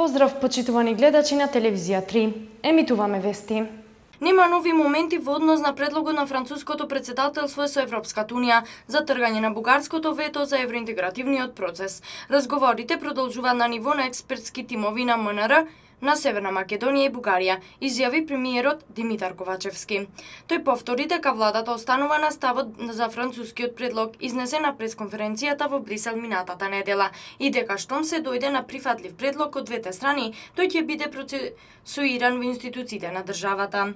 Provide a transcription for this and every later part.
Поздрав, почитувани гледачи на телевизија 3. Емитуваме вести. Нема нови моменти во однос на предлогот на француското претседателство со Европската унија за тргање на бугарското вето за евроинтегративниот процес. Разговорите продолжуваат на ниво на експертски тимови на МНР на Северна Македонија и Бугарија, изјави премиерот Димитар Ковачевски. Тој повтори дека владата останува на ставот за францускиот предлог изнесен на пресконференцијата во Брисел минатата недела и дека штом се дојде на прифатлив предлог од двете страни, тој ќе биде процесуиран во институциите на државата.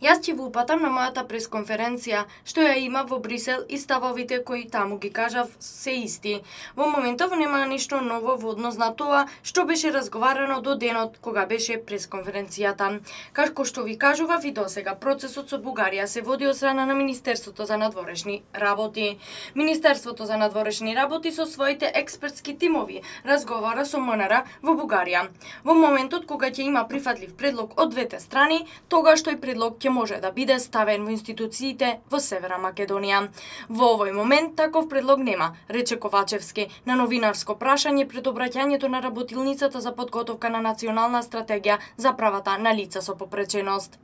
Јас ќе го упатам на мојата пресконференција, што ја има во Брисел и ставовите кои таму ги кажав се исти. Во моментов нема ништо ново во однос на тоа што беше разговарано до денот кога беше пресконференцијата. Како што ви кажував и досега, процесот со Бугарија се води од страна на Министерството за надворешни работи. Министерството за надворешни работи со своите експертски тимови разговара со МНР во Бугарија. Во моментот кога ќе има прифатлив предлог од двете страни, тогаш тој предлог ќе може да биде ставен во институциите во Северна Македонија. Во овој момент таков предлог нема, рече Ковачевски на новинарско прашање пред обраќањето на работилницата за подготовка на национална стратегија за правата на лица со попреченост.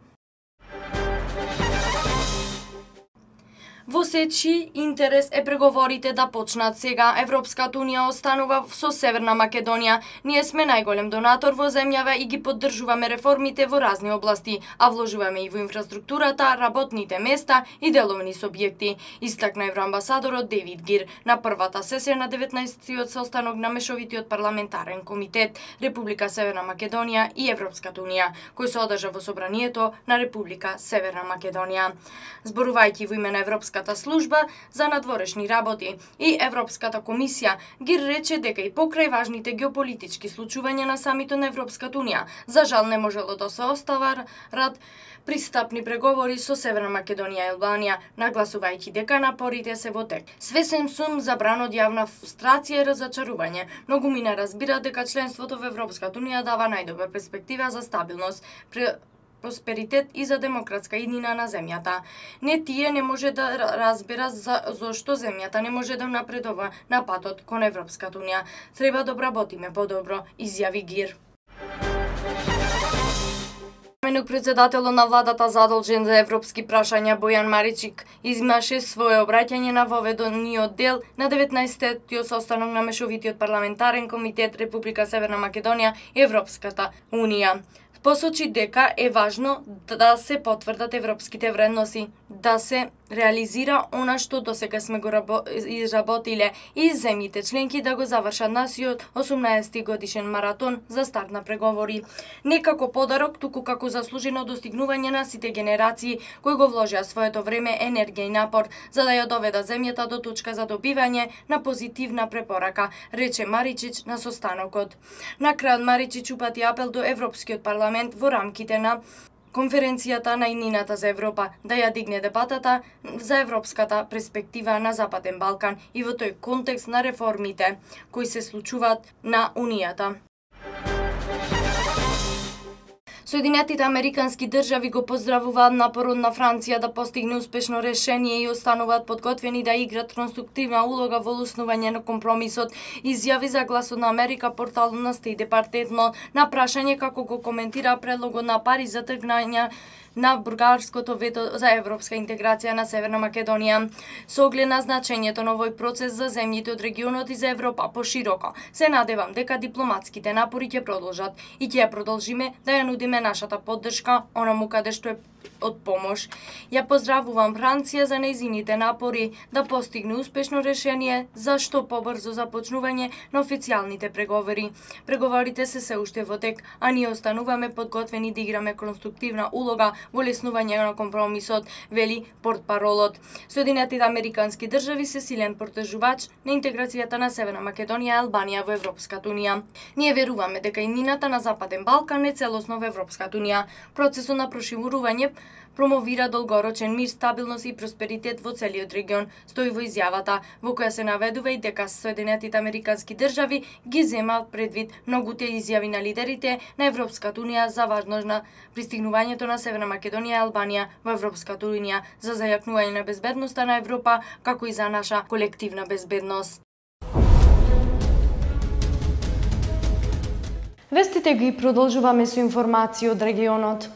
Во сечи интерес е преговорите да почнат сега. Европската унија останува со Северна Македонија. Ние сме најголем донатор во земјава и ги поддржуваме реформите во разни области, а вложуваме и во инфраструктурата, работните места и деловни субјекти, истакна евроамбасадорот Девид Гир на првата сесија на 19-тиот состанок на Мешовитиот парламентарен комитет Република Северна Македонија и Европската унија, кој се одржа во собранието на Република Северна Македонија. Зборувајќи во име на Европската служба за надворешни работи и Европската комисија, Гир рече дека и покрај важните геополитички случувања на самитот на Европската унија, за жал не можело да се остварат пристапни преговори со Северна Македонија и Албанија, нагласувајќи дека напорите се во тек. Свесен сум за бран од јавна фрустрација и разочарување. Многумина разбираат дека членството во Европската унија дава најдобра перспектива за стабилност, просперитет и за демократска иднина на земјата. Не тие не може да разбера зошто земјата не може да напредува на патот кон Европската унија. Треба да обработиме подобро, изјави Гир. Заменик председателот на владата задолжен за европски прашања Бојан Маричик имаше свое обраќање на воведениот дел на 19-тиот состанок на Мешовитиот парламентарен комитет Република Северна Македонија и Европската унија. Посочи дека е важно да се потврдат европските вредности, да се реализира она што досега сме го изработиле и земјите членки да го завршат насиот 18-ти годишен маратон за старт на преговори. Не како подарок, туку како заслужено достигнување на сите генерации кои го вложија своето време, енергија и напор за да ја доведат земјата до точка за добивање на позитивна препорака, рече Маричич на состанокот. На крајот Маричич упати апел до Европскиот парламент во рамките на конференцијата на иднината за Европа да ја дигне дебатата за европската перспектива на Западен Балкан и во тој контекст на реформите кои се случуваат на Унијата. Соединетите американски држави го поздравуваат напорот на Франција да постигне успешно решение и остануваат подготвени да играат конструктивна улога во оснување на компромисот, изјави за Гласот на Америка порталот на Стејт Департмент на прашање како го коментира предлогот на Париз за тргнање на бугарското вето за европска интеграција на Северна Македонија. Со оглед на значењето на овој процес за земјите од регионот и за Европа пошироко, се надевам дека дипломатските напори ќе продолжат и ќе ја продолжиме да ја нудиме нашата поддршка онаму каде што е од помош. Ја поздравувам Франција за нејзините напори да постигне успешно решение за што побрзо започнување на официјалните преговори. Преговорите се уште во тек, а ние остануваме подготвени да играме конструктивна улога во леснување на компромисот, вели портпаролот. Соединетите американски држави се силен потежувач на интеграцијата на Северна Македонија и Албанија во Европската унија. Ние веруваме дека иднината на Западен Балкан е целосно во Европската унија. Процесот на проширување промовира долгорочен мир, стабилност и просперитет во целиот регион, стои во изјавата, во која се наведува и дека Соединетите американски држави ги земаат предвид многуте изјави на лидерите на Европската унија за важност на пристигнувањето на Северна Македонија и Албанија во Европската унија за зајакнување на безбедноста на Европа, како и за наша колективна безбедност. Вестите ги продолжуваме со информации од регионот.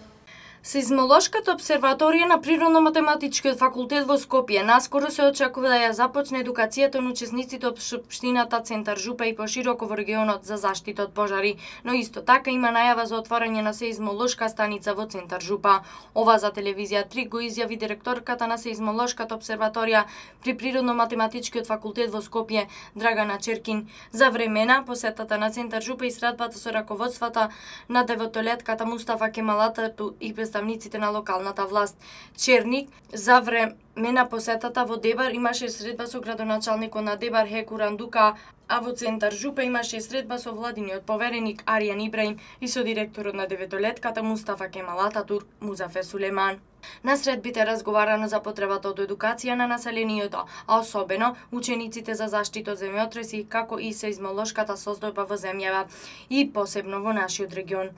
Сеизмолошката обсерваторија на Природно-математичкиот факултет во Скопје наскоро се очекува да ја започне едукацијата на учесниците од општината Центар Жупа и пошироко во регионот за заштита од пожари, но исто така има најава за отворање на сеизмолошка станица во Центар Жупа. Ова за телевизија 3 го изјави директорката на Сеизмолошката обсерваторија при Природно-математичкиот факултет во Скопје, Драгана Черкин, за време на посетата на Центар Жупа и средбата со раководствата на деветолетката Мустафа Кемал Ататурк и представниците на локалната власт. Черник за време на посетата во Дебар имаше средба со градоначалникот на Дебар Хеку Рандука, а во Центар Жупа имаше средба со владиниот повереник Аријан Ибраим и со директорот на деветолетката Мустафа Кемал Ататурк Музафер Сулеман. На средбите разговарано за потребата од едукација на населението, а особено учениците за заштита од земјотреси, како и сеизмолошката состојба во земјава и посебно во нашиот регион.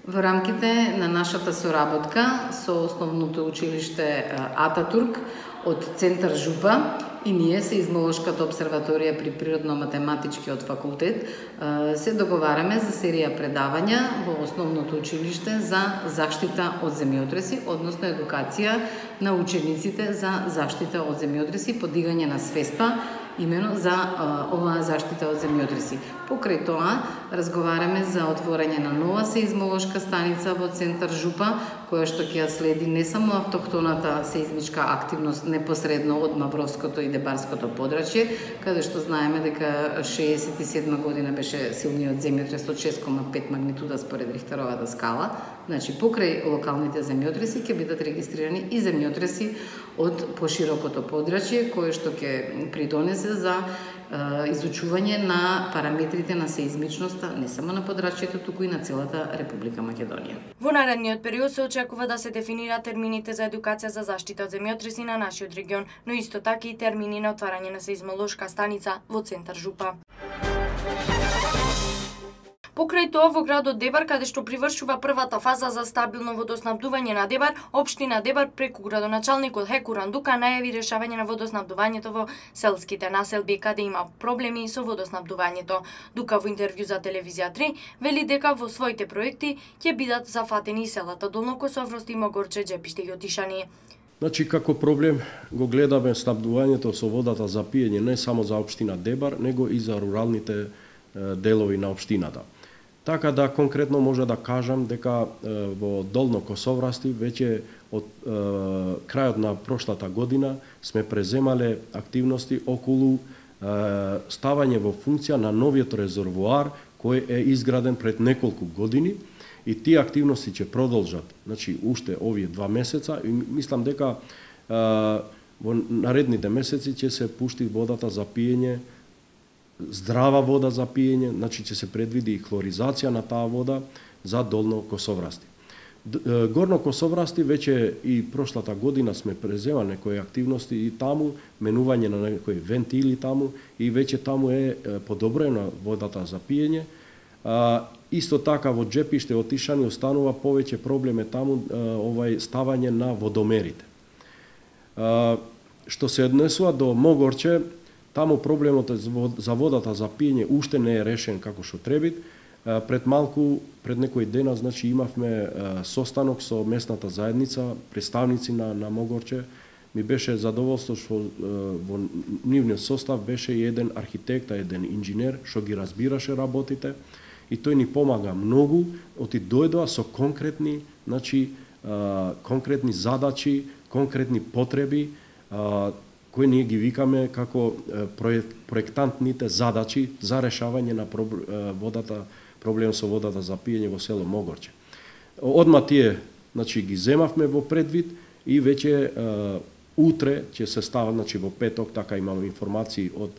Во рамките на нашата соработка со основното училиште Ататурк од Центар Жупа и ние, Сеизмолошката обсерваторија при Природно-математичкиот факултет, се договараме за серија предавања во основното училиште за заштита од земјотреси, односно едукација на учениците за заштита од земјотреси, подигање на свеста имено за оваа заштита од земјотреси. Покрај тоа, разговараме за отворање на нова сеизмолошка станица во Центар Жупа, која што ќе ја следи не само автохтоната сеизмичка активност непосредно од Мавровското и Дебарското подрачје, каде што знаеме дека 67 година беше силниот земјотрес од 6,5 магнитуда според Рихтеровата скала. Значи, покрај локалните земјотреси ќе бидат регистрирани и земјотреси од поширокото подрачје, кое што ќе придонесе за изучување на параметрите на сеизмичноста не само на подрачјето, туку и на целата Република Македонија. Во наредниот период се очекува да се дефинираат термините за едукација за заштита од земјотреси на нашиот регион, но исто така и термини на отварање на сеизмолошка станица во Центар Жупа. Покрај тоа, во градот Дебар, каде што привршува првата фаза за стабилно водоснабдување на Дебар, општина Дебар преку градоначалникот Хеку Рандука најави решавање на водоснабдувањето во селските населби каде има проблеми со водоснабдувањето. Дука во интервју за телевизија 3 вели дека во своите проекти ќе бидат зафатени селата Долно Косоврост и Могорче, Джепиште и Отишани. Значи, како проблем го гледаме снабдувањето со водата за пиење не само за општина Дебар, него и за руралните делови на општината. Така да конкретно може да кажам дека во Долно Косоврасти веќе од крајот на прошлата година сме преземале активности околу ставање во функција на новиот резервоар кој е изграден пред неколку години и тие активности ќе продолжат, значи уште овие 2 месеца и мислам дека во наредните месеци ќе се пушти водата за пиење, здрава вода за пиење, значи ќе се предвиди и хлоризација на таа вода за Долно Косоврасти. Горно Косоврасти веќе и прошлата година сме преземали некои активности и таму, менување на некои вентили таму и веќе таму е подобрена водата за пиење. Исто така во Джепиште Отишани останува повеќе проблем таму ставање на водомерите. Што се однесува до Могорче, таму проблемот за водата за пиење уште не е решен како што треба. Пред некои дена, значи имавме состанок со местната заедница, представници на Могорче. Ми беше задоволство што во нивниот состав беше и еден архитект, еден инженер што ги разбираше работите и тој ни помага многу, оти дојдоа со конкретни, значи конкретни задачи, конкретни потреби, кои ние ги викаме како проектантните задачи за решавање на проблем со водата за пиење во село Могорче. Одма тие, значи, ги земавме во предвид и веќе утре ќе се става, значи во петок, така имаме информации од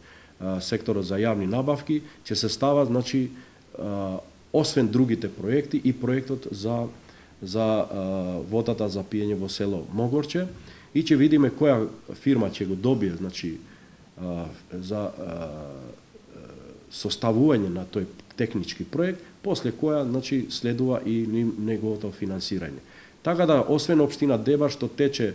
секторот за јавни набавки, ќе се става, значи, освен другите проекти и проектот за водата за пиење во село Могорче и ќе видиме која фирма ќе го добие, значи, за составување на тој технички проект, после која, значи, следува и неговото финансирање. Така да, освен општина Дебар што тече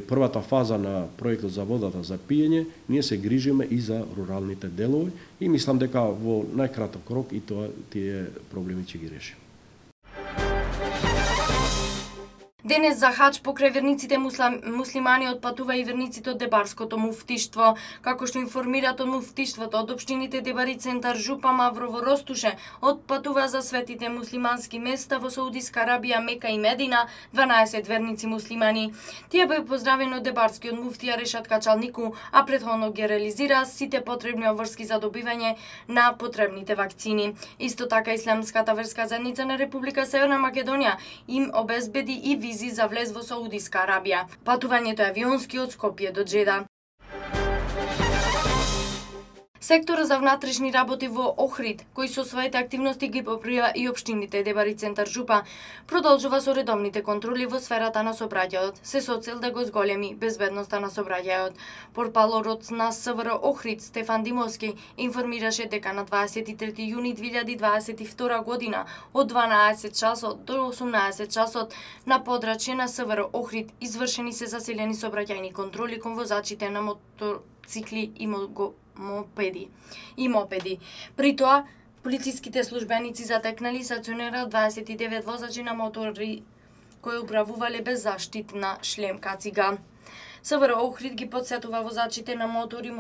првата фаза на проектот за водата за пиење, ние се грижиме и за руралните делови и мислам дека во најкраток рок и тие проблеми ќе ги решиме. Денес за хаџ покрај верниците муслимани отпатува и верниците од Дебарското муфтиштво. Како што информираат од муфтиштвото, од општините Дебар и Центар Жупа, Маврово, Ростуше, отпатува за светите муслимански места во Саудиска Арабија, Мека и Медина 12 верници муслимани. Тие беа поздравени од Дебарскиот муфтија Решат Качалнику, а претходно ги реализира сите потребни обврски за добивање на потребните вакцини. Исто така Исламската верска заедница на Република Северна Македонија им обезбеди и визи за влез во Саудиска Арабија. Патувањето е авионски од Скопје до Џеда. Секторот за внатрешни работи во Охрид, кој со своите активности ги покрива и општините Дебар и Центар Жупа, продолжува со редовните контроли во сферата на сообраќајот, се со цел да го зголеми безбедноста на сообраќајот. Портпаролот на СВР Охрид Стефан Димовски информираше дека на 23 јуни 2022 година од 12 часот до 18 часот на подрачје на СВР Охрид извршени се засилени сообраќајни контроли кон возачите на мотоцикли и мопеди. При тоа, полициските службеници затекнали стационера 29 возачи на мотори кои управувале без заштитна шлем кацига. СВР Охрид ги потсетува возачите на мотори,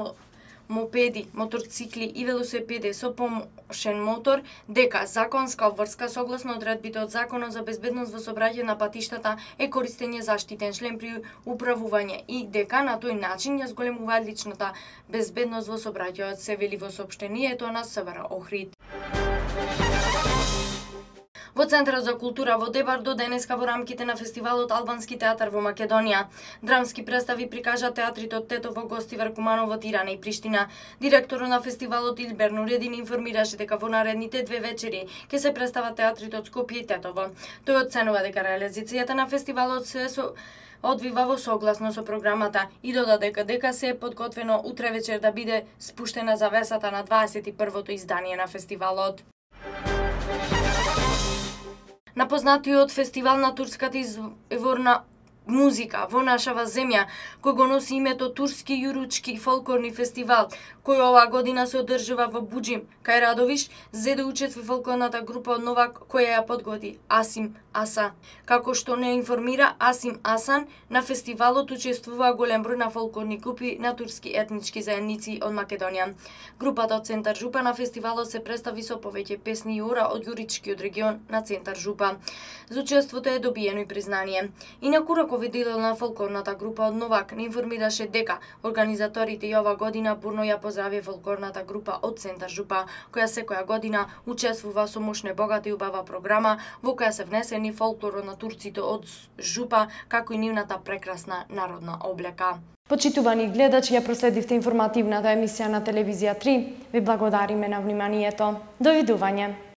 мопеди, моторцикли и велосипеди со помошен мотор дека законска обврска согласно одредбите од Законот за безбедност во сообраќај на патиштата е користење заштитен шлем при управување и дека на тој начин ја зголемуваат личната безбедност во сообраќајот, се вели во соопштението на СВР Охрид. Во Центарот за култура во Дебар до денеска во рамките на фестивалот Албански театар во Македонија. Драмски представи прикажа театрите од Тетово, Гостивар, Куманово, Тирана и Приштина. Директорот на фестивалот Илбер Нуредин информираше дека во наредните 2 вечери ќе се представат театрите од Скопје и Тетово. Тој оценува дека реализацијата на фестивалот се одвива во согласно со програмата и додаде дека се е подготвено утре вечер да биде спуштена завесата на 21-то издание на фестивалот. На познатиот фестивал на турската изворна музика во нашава земја, кој го носи името Турски јуручки фолклорни фестивал, кој оваа година се одржува во Буџим, кај Радовиш, зеде учестви фолклорната група од Новак, која ја подготви Асим Аса. Како што не информира Асим Асан, на фестивалот учествува голем број на фолклорни групи на турски етнички заедници од Македонија. Групата од Центар Жупа на фестивалот се представи со повеќе песни и ора од јуричкиот регион на Центар Жупа. За учеството е добиено и признание. Инаку раководител на фолклорната група од Новак не информираше дека организаторите и ова година бурно ја поздрави фолклорната група од Центар Жупа, која секоја година учествува со мощна, богата и убава програма во која се внесени фолклорот на турците од Жупа, како и нивната прекрасна народна облека. Почитувани гледачи, ја проследивте информативната емисија на телевизија 3. Ви благодариме на вниманието. Довидување.